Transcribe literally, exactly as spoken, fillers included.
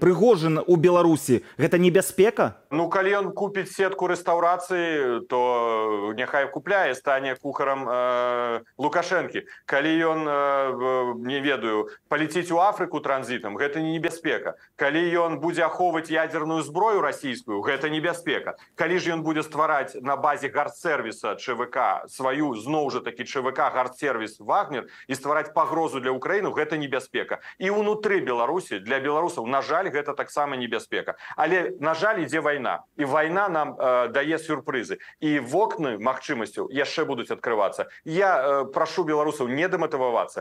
Прыгожин у Беларусі гэта небяспека? Ну калі ён купіць сетку рэстаўрацыі, то няхай купляе, стане кухарам э, Лукашэнкі. Калі ён э, не ведаю, паліціць у Афрыку транзітам, гэта не небяспека. Калі ён будзе ахоўваць ядзерную зброю расійскую, гэта небяспека. Калі ж ён будзе ствараць на базе гардсервіса ЧВК сваю зноў жа такі ЧВК гардсервіс Вагнер і ствараць пагрозу для Украіны, гэта небяспека. І ўнутры Беларусі для беларусаў, на жаль, гэта таксама небяспека. Але, на жаль, ідзе вайна. І вайна нам э, дае сюрпрызы. І вокны магчымасцяў яшчэ будуць адкрывацца. Я э, прашу беларусаў не дэматывавацца,